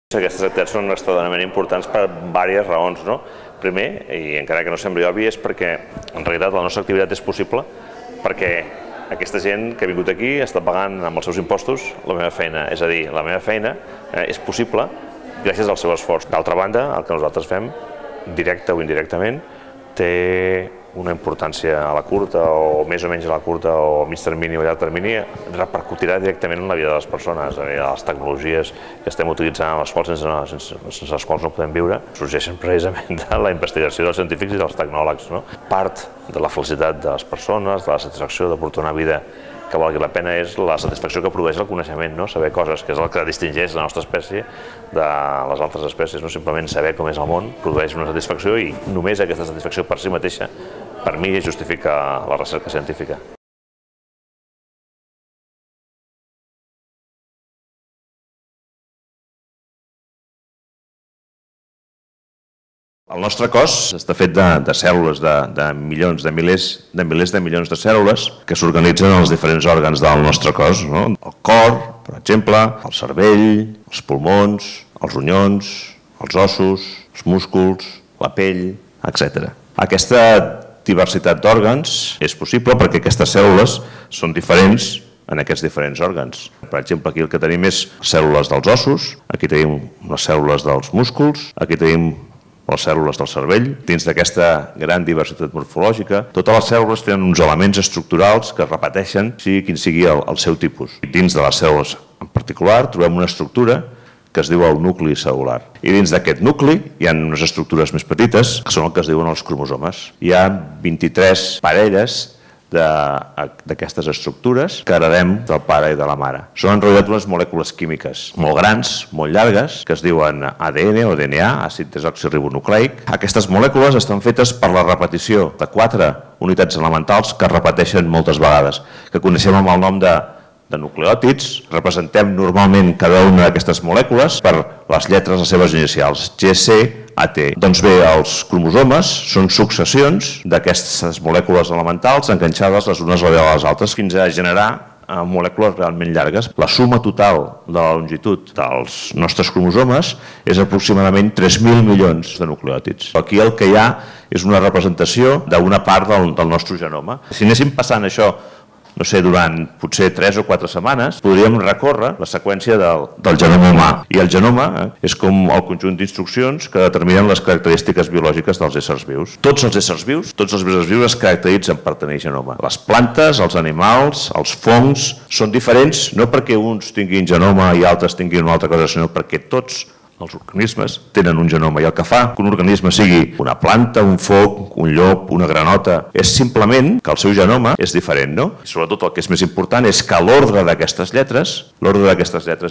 Aquestes activitats són extraordinàriament importants per diverses raons. Primer, i encara que no sembli obvi, és perquè en realitat la nostra activitat és possible perquè aquesta gent que ha vingut aquí està pagant amb els seus impostos la meva feina. És a dir, la meva feina és possible gràcies al seu esforç. D'altra banda, el que nosaltres fem, directe o indirectament, té una importància a la curta o més o menys a la curta o a mig termini o a llarg termini, repercutirà directament en la vida de les persones. Les tecnologies que estem utilitzant, les quals sense les quals no podem viure, sorgeixen precisament de la investigació dels científics i dels tecnòlegs. Part de la felicitat de les persones, de la satisfacció de portar una vida que valgui la pena és la satisfacció que produeix el coneixement, saber coses, que és el que distingeix la nostra espècie de les altres espècies. Simplement saber com és el món produeix una satisfacció i només aquesta satisfacció per si mateixa, per mi, justifica la recerca científica. El nostre cos està fet de cèl·lules, de milions, de milers de milions de cèl·lules que s'organitzen en els diferents òrgans del nostre cos. El cor, per exemple, el cervell, els pulmons, els ronyons, els ossos, els músculs, la pell, etc. Aquesta diversitat d'òrgans és possible perquè aquestes cèl·lules són diferents en aquests diferents òrgans. Per exemple, aquí el que tenim és cèl·lules dels ossos, aquí tenim les cèl·lules dels músculs, aquí tenim les cèl·lules del cervell. Dins d'aquesta gran diversitat morfològica, totes les cèl·lules tenen uns elements estructurals que es repeteixen, sigui quin sigui el seu tipus. Dins de les cèl·lules en particular trobem una estructura que es diu el nucli cel·lular. I dins d'aquest nucli hi ha unes estructures més petites, que són el que es diuen els cromosomes. Hi ha 23 parelles d'aquestes estructures que heredem del pare i de la mare. Són en realitat unes molècules químiques molt grans, molt llargues, que es diuen ADN o DNA, àcid desoxiribonucleic. Aquestes molècules estan fetes per la repetició de 4 unitats elementals que es repeteixen moltes vegades, que coneixem amb el nom de nucleòtids. Representem normalment cada una d'aquestes molècules per les lletres, les seves inicials, G, C, AT. Doncs bé, els cromosomes són successions d'aquestes molècules elementals enganxades les unes a les altres fins a generar molècules realment llargues. La suma total de la longitud dels nostres cromosomes és aproximadament 3.000 milions de nucleòtids. Aquí el que hi ha és una representació d'una part del nostre genoma. Si anéssim passant això, no sé, durant potser 3 o 4 setmanes, podríem recórrer la seqüència del genoma humà. I el genoma és com el conjunt d'instruccions que determinen les característiques biològiques dels éssers vius. Tots els éssers vius es caracteritzen per tenir genoma. Les plantes, els animals, els fongs, són diferents no perquè uns tinguin genoma i altres tinguin una altra cosa, sinó perquè tots els organismes tenen un genoma i el que fa que un organisme sigui una planta, un foc, un llop, una granota, és simplement que el seu genoma és diferent, I sobretot el que és més important és que l'ordre d'aquestes lletres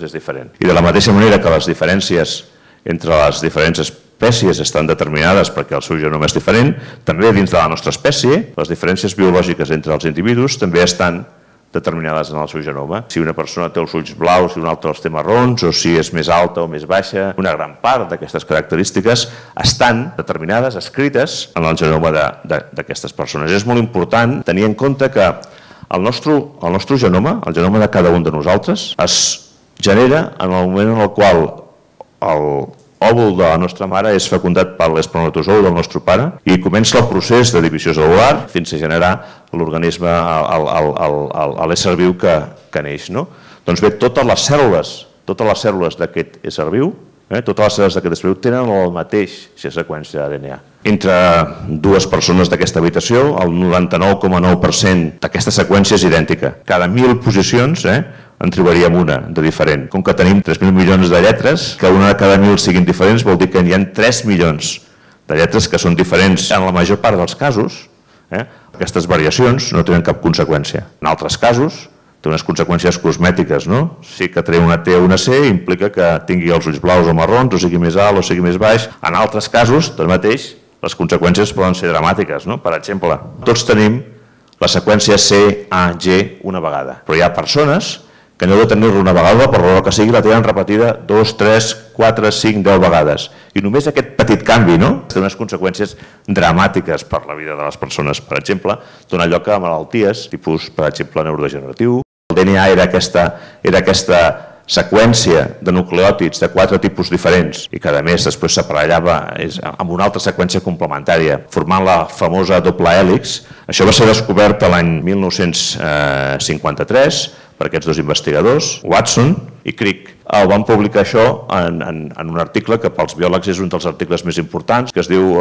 és diferent. I de la mateixa manera que les diferències entre les diferents espècies estan determinades perquè el seu genoma és diferent, també dins de la nostra espècie, les diferències biològiques entre els individus també estan determinades en el seu genoma. Si una persona té els ulls blaus i una altra els té marrons, o si és més alta o més baixa, una gran part d'aquestes característiques estan determinades, escrites en el genoma d'aquestes persones. És molt important tenir en compte que el nostre genoma, el genoma de cada un de nosaltres, es genera en el moment en el qual l'òvul de la nostra mare és fecundat per l'espermatozou del nostre pare i comença el procés de divisió cel·lular fins a generar l'organisme, l'ésser viu que neix. Doncs bé, totes les cèl·lules d'aquest ésser viu, totes les cèl·lules d'aquest ésser viu tenen la mateixa seqüència d'ADN. Entre dues persones d'aquesta habitació, el 99,9% d'aquesta seqüència és idèntica. Cada 1.000 posicions en trobaríem una de diferent. Com que tenim 3.000 milions de lletres, que una de cada 1.000 siguin diferents vol dir que hi ha 3 milions de lletres que són diferents. En la major part dels casos, aquestes variacions no tenen cap conseqüència. En altres casos, té unes conseqüències cosmètiques, Sí que treure una T o una C implica que tingui els ulls blaus o marrons, o sigui més alt o sigui més baix. En altres casos, tanmateix, les conseqüències poden ser dramàtiques. Per exemple, tots tenim la seqüència C, A, G una vegada, però hi ha persones que no heu de tenir-la una vegada, per raó que sigui, la tenen repetida 2, 3, 4, 5, 10 vegades. I només aquest petit canvi té unes conseqüències dramàtiques per la vida de les persones. Per exemple, dona lloc a malalties, tipus, per exemple, neurodegeneratiu. El DNA era aquesta seqüència de nucleòtids de 4 tipus diferents i que a més després s'aparellava amb una altra seqüència complementària formant la famosa doble hèlix. Això va ser descobert l'any 1953 per aquests dos investigadors, Watson i Crick. Van publicar això en un article que pels biòlegs és un dels articles més importants, que es diu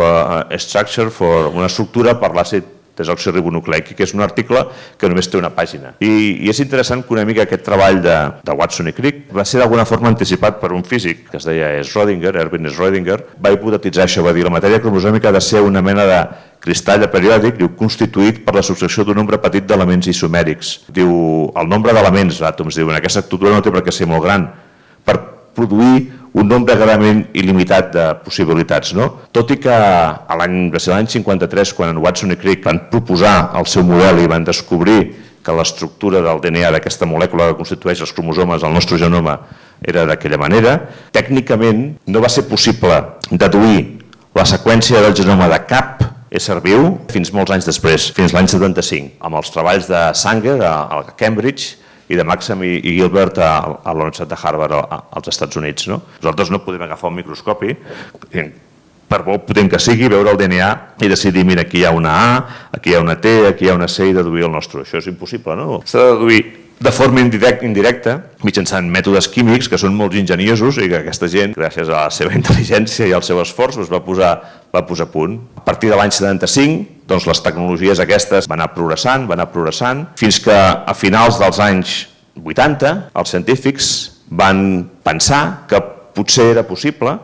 Structure for una estructura per l'àcid desoxiribonucleic, que és un article que només té una pàgina. I és interessant que una mica aquest treball de Watson i Crick va ser d'alguna forma anticipat per un físic que es deia Schrödinger, Erwin Schrödinger. Va hipotetitzar això, va dir la matèria cromosòmica ha de ser una mena de cristall periòdic, constituït per la subtracció d'un nombre petit d'elements isomèrics. Diu, el nombre d'elements, àtoms, diuen, aquesta estructura no té per què ser molt gran per produir un nombre clarament il·limitat de possibilitats. Tot i que l'any 53, quan Watson i Crick van proposar el seu model i van descobrir que l'estructura del DNA d'aquesta molècula que constitueix els cromosomes del nostre genoma era d'aquella manera, tècnicament no va ser possible deduir la seqüència del genoma de cap ésser viu fins molts anys després, fins l'any 75, amb els treballs de Sanger a Cambridge i de Maxam i Gilbert a la Universitat de Harvard als Estats Units. Nosaltres no podem agafar un microscopi, per molt potent que sigui, veure el DNA i decidir, mira, aquí hi ha una A, aquí hi ha una T, aquí hi ha una C i deduir el nostre. Això és impossible, no? S'ha de deduir de forma indirecta, mitjançant mètodes químics que són molt enginyosos i que aquesta gent, gràcies a la seva intel·ligència i al seu esforç, va posar a punt. A partir de l'any 75, doncs les tecnologies aquestes van anar progressant, fins que a finals dels anys 80 els científics van pensar que potser era possible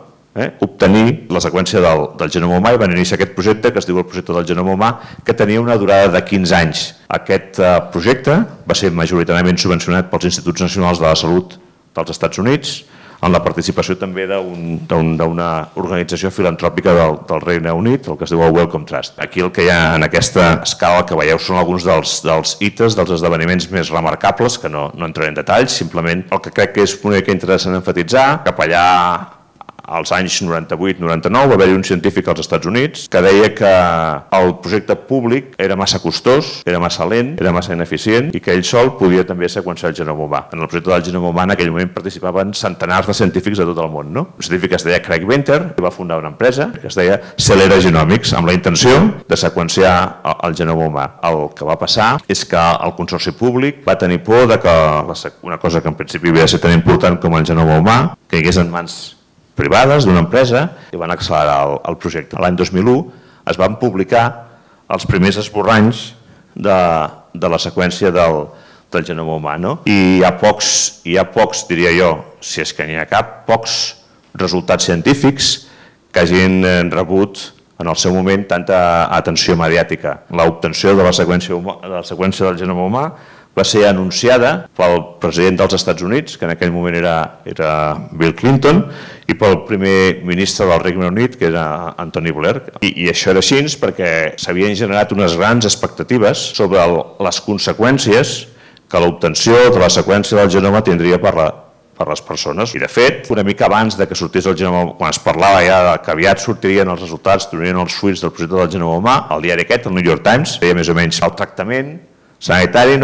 obtenir la seqüència del genoma humà i van iniciar aquest projecte que es diu el projecte del genoma humà, que tenia una durada de 15 anys. Aquest projecte va ser majoritàriament subvencionat pels Instituts Nacionals de la Salut dels Estats Units, amb la participació també d'una organització filantròpica del Regne Unit, el que es diu el Wellcome Trust. Aquí el que hi ha en aquesta escala que veieu són alguns dels hites, dels esdeveniments més remarcables, que no entraré en detalls, simplement el que crec que és una mica interessant emfatitzar, cap allà als anys 98-99 va haver-hi un científic als Estats Units que deia que el projecte públic era massa costós, era massa lent, era massa ineficient i que ell sol podia també seqüenciar el genoma humà. En el projecte del genoma humà en aquell moment participaven centenars de científics de tot el món. Un científic que es deia Craig Venter i va fundar una empresa que es deia Celera Genomics amb la intenció de seqüenciar el genoma humà. El que va passar és que el consorci públic va tenir por de que una cosa que en principi havia de ser tan important com el genoma humà caigués en mans privades d'una empresa i van accelerar el projecte. L'any 2001 es van publicar els primers esborranys de la seqüència del genoma humà. I hi ha pocs, diria jo, si és que n'hi ha cap, pocs resultats científics que hagin rebut en el seu moment tanta atenció mediàtica. L'obtenció de la seqüència del genoma humà va ser anunciada pel president dels Estats Units, que en aquell moment era Bill Clinton, i pel primer ministre del Regne Unit, que era Tony Blair. I això era així perquè s'havien generat unes grans expectatives sobre les conseqüències que l'obtenció de la seqüència del genoma tindria per les persones. I de fet, una mica abans que sortís el genoma, quan es parlava ja que aviat sortirien els resultats, tornarien els fruits del projecte del genoma humà, el diari aquest, el New York Times, deia més o menys el tractament sanitari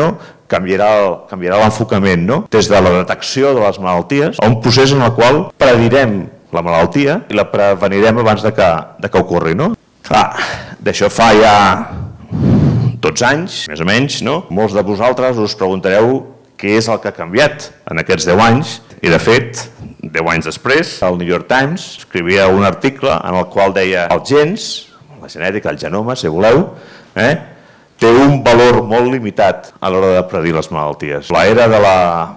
canviarà l'enfocament des de la detecció de les malalties a un procés en el qual predirem la malaltia i la prevenirem abans de que ocorri. Clar, d'això fa ja 12 anys, més o menys, molts de vosaltres us preguntareu què és el que ha canviat en aquests 10 anys i de fet, 10 anys després, el New York Times escrivia un article en el qual deia els gens, la genètica, el genoma, si voleu, té un valor molt limitat a l'hora de predir les malalties. L'era de la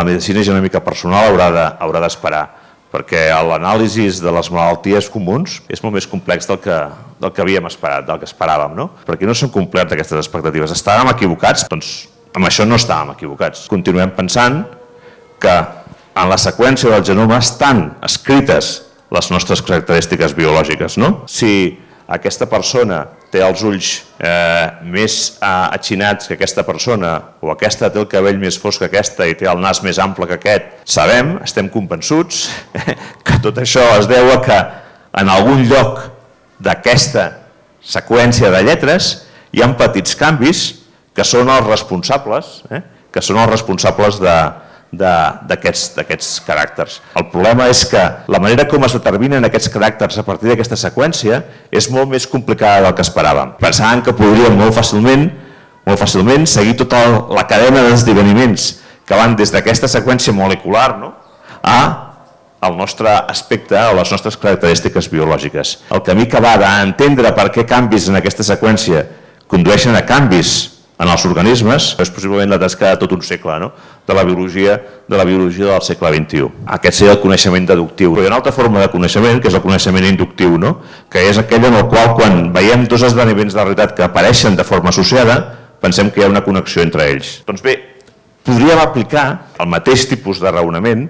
medicina genòmica personal haurà d'esperar, perquè l'anàlisi de les malalties comuns és molt més complex del que havíem esperat, del que esperàvem, perquè no s'han complert aquestes expectatives. Estàvem equivocats? Doncs amb això no estàvem equivocats. Continuem pensant que en la seqüència del genoma estan escrites les nostres característiques biològiques. Si aquesta persona té els ulls més atxinats que aquesta persona o aquesta té el cabell més fosc que aquesta i té el nas més ample que aquest, sabem, estem convençuts que tot això es deu a que en algun lloc d'aquesta seqüència de lletres hi ha petits canvis que són els responsables d'aquests caràcters. El problema és que la manera com es determinen aquests caràcters a partir d'aquesta seqüència és molt més complicada del que esperàvem. Pensàvem que podríem molt fàcilment seguir tota la cadena d'esdeveniments que van des d'aquesta seqüència molecular al nostre aspecte o les nostres característiques biològiques. El camí que va d'entendre per què canvis en aquesta seqüència condueixen a canvis en els organismes és possiblement la tasca de tot un segle, de la biologia del segle XXI. Aquest seria el coneixement deductiu. Però hi ha una altra forma de coneixement, que és el coneixement inductiu, que és aquell en el qual, quan veiem dos esdeveniments de la realitat que apareixen de forma associada, pensem que hi ha una connexió entre ells. Doncs bé, podríem aplicar el mateix tipus de raonament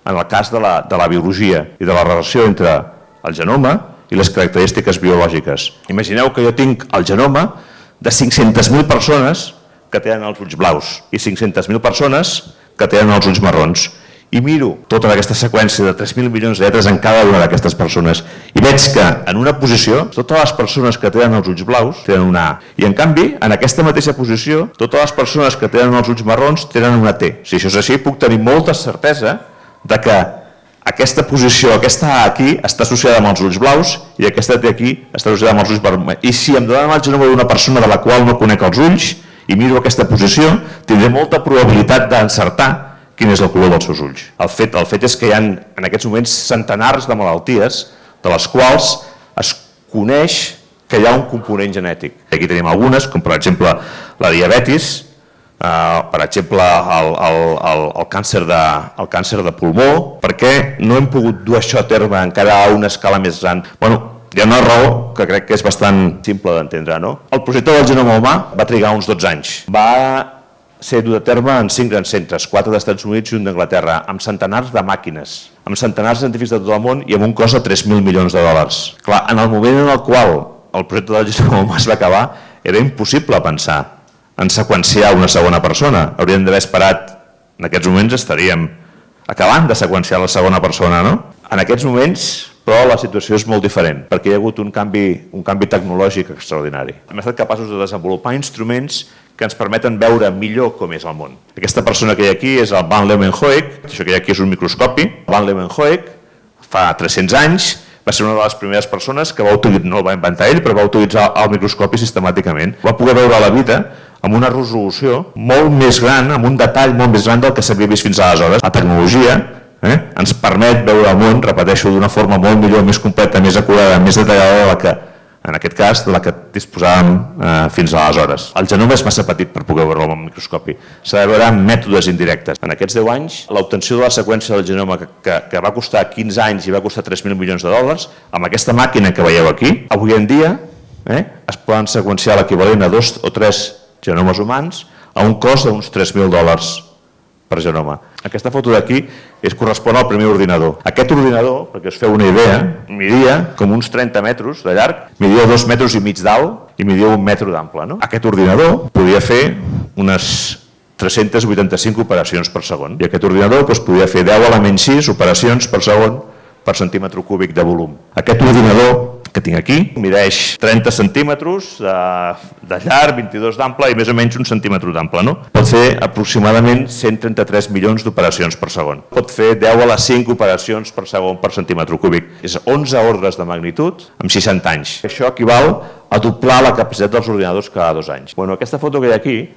en el cas de la biologia i de la relació entre el genoma i les característiques biològiques. Imagineu que jo tinc el genoma de 500.000 persones que tenen els ulls blaus i 500.000 persones que tenen els ulls marrons. I miro tota aquesta seqüència de 3.000 milions de lletres en cada una d'aquestes persones i veig que en una posició totes les persones que tenen els ulls blaus tenen una A. I en canvi, en aquesta mateixa posició, totes les persones que tenen els ulls marrons tenen una T. Si això és així, puc tenir molta certesa de que aquesta posició, aquesta A aquí, està associada amb els ulls blaus i aquesta T aquí està associada amb els ulls vermells. I si em donen el genoma d'una persona de la qual no conec els ulls i miro aquesta posició, tindré molta probabilitat d'encertar quin és el color dels seus ulls. El fet és que hi ha en aquests moments centenars de malalties de les quals es coneix que hi ha un component genètic. Aquí tenim algunes, com per exemple la diabetis, per exemple el càncer de pulmó. Per què no hem pogut dur això a terme encara a una escala més gran? Hi ha una raó que crec que és bastant simple d'entendre. El projecte del genoma humà va trigar uns 12 anys. Va ser dut a terme en 5 grans centres, 4 dels Estats Units i un d'Anglaterra, amb centenars de màquines, amb centenars de científics de tot el món i amb un cost de 3.000 milions de dòlars. Clar, en el moment en el qual el projecte del genoma humà es va acabar, era impossible pensar en seqüenciar una segona persona. Hauríem d'haver esperat, en aquests moments estaríem acabant de seqüenciar la segona persona, no? En aquests moments, però, la situació és molt diferent, perquè hi ha hagut un canvi tecnològic extraordinari. Hem estat capaços de desenvolupar instruments que ens permeten veure millor com és el món. Aquesta persona que hi ha aquí és el Van Leeuwenhoek, això que hi ha aquí és un microscopi. Van Leeuwenhoek, fa 300 anys, va ser una de les primeres persones que no el va inventar ell, però va utilitzar el microscopi sistemàticament. Va poder veure la vida amb una resolució molt més gran, amb un detall molt més gran del que s'havia vist fins aleshores. La tecnologia ens permet veure el món, repeteixo, d'una forma molt millor, més completa, més acurada, més detallada de la que, en aquest cas, de la que disposàvem fins aleshores. El genoma és massa petit per poder veure-lo amb el microscopi. S'ha de veure amb mètodes indirectes. En aquests 10 anys, l'obtenció de la seqüència del genoma que va costar 15 anys i va costar 3.000 milions de dòlars, amb aquesta màquina que veieu aquí, avui en dia es poden seqüenciar l'equivalent a 2 o 3 genomes humans a un cost d'uns 3.000 dòlars per genoma. Aquesta foto d'aquí correspon al primer ordinador. Aquest ordinador, perquè us feu una idea, midia com uns 30 metres de llarg, midia 2,5 metres d'alt i midia 1 metre d'ample. Aquest ordinador podia fer unes 385 operacions per segon. I aquest ordinador podia fer 10 a la menys 6 operacions per segon per centímetre cúbic de volum. Aquest ordinador que tinc aquí mideix 30 centímetres de llarg, 22 d'ample i més o menys 1 centímetre d'ample. Pot fer aproximadament 133 milions d'operacions per segon. Pot fer 10 a la 5 operacions per segon per centímetre cúbic. És 11 ordres de magnitud en 60 anys. Això equival a doblar la capacitat dels ordinadors cada 2 anys. Aquesta foto que hi ha aquí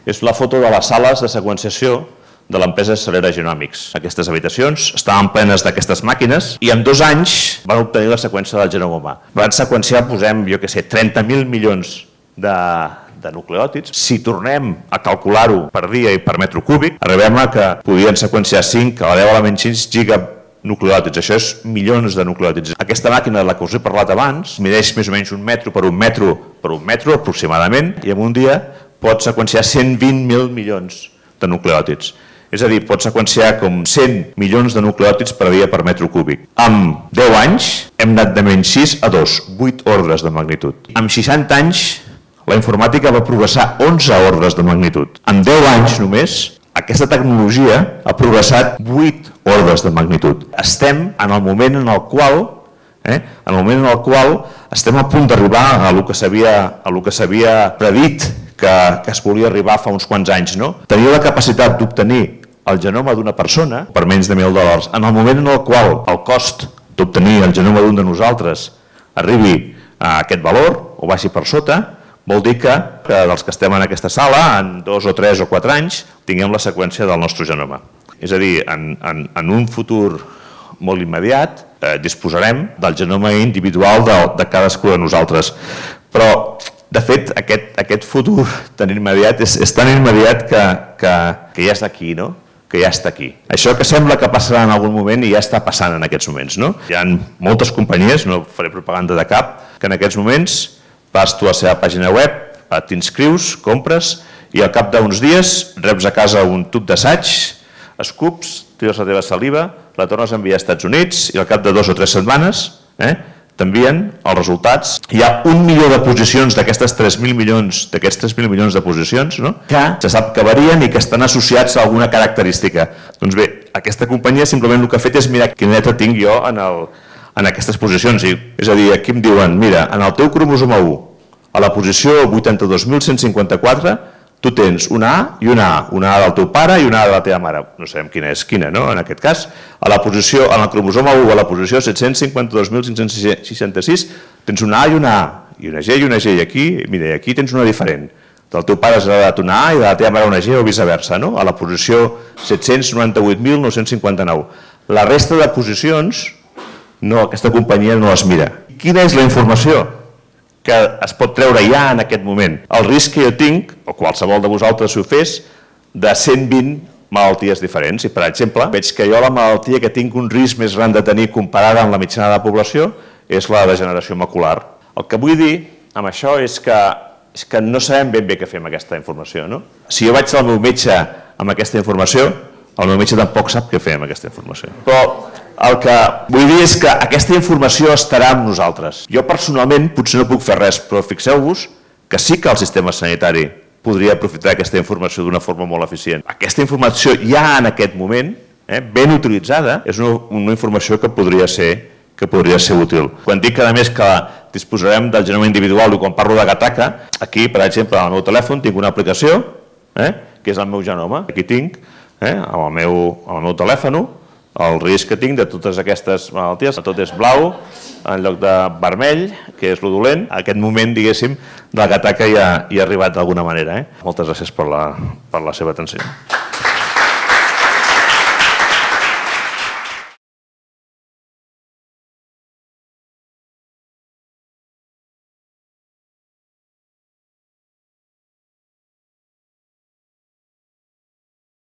és la foto de les sales de seqüenciació de l'empresa Celera Genomics. Aquestes habitacions estaven plenes d'aquestes màquines i en 2 anys van obtenir la seqüència del genoma humà. Van seqüenciar, 30.000 milions de nucleòtids. Si tornem a calcular-ho per dia i per metre cúbic, arribem a que podien seqüenciar 5 a la 10 a la menys 6 giganucleòtids. Això és milions de nucleòtids. Aquesta màquina de la que us he parlat abans mideix més o menys 1 metre per 1 metre aproximadament i en un dia pot seqüenciar 120.000 milions de nucleòtids. És a dir, pot seqüenciar com 100 milions de nucleòtids per dia per metre cúbic. En 10 anys hem anat de menys 6 a 2, 8 ordres de magnitud. En 60 anys la informàtica va progressar 11 ordres de magnitud. En 10 anys només aquesta tecnologia ha progressat 8 ordres de magnitud. Estem en el moment en el qual estem a punt d'arribar a el que s'havia predit que es volia arribar fa uns quants anys. Tenia la capacitat d'obtenir el genoma d'una persona per menys de $1.000. En el moment en el qual el cost d'obtenir el genoma d'un de nosaltres arribi a aquest valor o baixi per sota, vol dir que dels que estem en aquesta sala, en 2 o 3 o 4 anys, tinguem la seqüència del nostre genoma. És a dir, en un futur molt immediat disposarem del genoma individual de cadascú de nosaltres. Però, de fet, aquest futur tan immediat és tan immediat que ja està aquí, no? Que ja està aquí. Això que sembla que passarà en algun moment i ja està passant en aquests moments, no? Hi ha moltes companyies, no faré propaganda de cap, que en aquests moments vas tu a la seva pàgina web, t'inscrius, compres i al cap d'uns dies reps a casa un tub d'assaig, escups, tires la teva saliva, la tornes a enviar als Estats Units i al cap de 2 o 3 setmanes t'envien els resultats. Hi ha 1 milió de posicions d'aquests 3.000 milions de posicions que se sap que varien i que estan associats a alguna característica. Doncs bé, aquesta companyia simplement el que ha fet és mirar quina lletra tinc jo en aquestes posicions. És a dir, aquí em diuen, mira, en el teu cromosoma 1, a la posició 82.154, tu tens una A i una A del teu pare i una A de la teva mare. No sabem quina és quina, no? En aquest cas, en el cromosoma 1, a la posició 752.566, tens una A i una A, i una G i una G, i aquí tens una diferent. Del teu pare has heredat una A i de la teva mare una G o viceversa, no? A la posició 798.959. La resta de posicions, aquesta companyia no les mira. Quina és la informació que es pot treure ja en aquest moment? El risc que jo tinc, o qualsevol de vosaltres si ho fes, de 120 malalties diferents. I, per exemple, veig que jo la malaltia que tinc un risc més gran de tenir comparada amb la mitjana de la població és la degeneració macular. El que vull dir amb això és que no sabem ben bé què fer amb aquesta informació. Si jo vaig al meu metge amb aquesta informació, el meu metge tampoc sap què fer amb aquesta informació. Però el que vull dir és que aquesta informació estarà amb nosaltres. Jo personalment potser no puc fer res, però fixeu-vos que sí que el sistema sanitari podria aprofitar aquesta informació d'una forma molt eficient. Aquesta informació ja en aquest moment, ben utilitzada, és una informació que podria ser útil. Quan dic a més que disposarem del genoma individual i quan parlo de Gattaca, aquí, per exemple, al meu telèfon tinc una aplicació que és el meu genoma. Aquí tinc, al meu telèfon, el risc que tinc de totes aquestes malalties. Tot és blau en lloc de vermell, que és lo dolent. Aquest moment, diguéssim, de la Gattaca ja ha arribat d'alguna manera. Moltes gràcies per la seva atenció.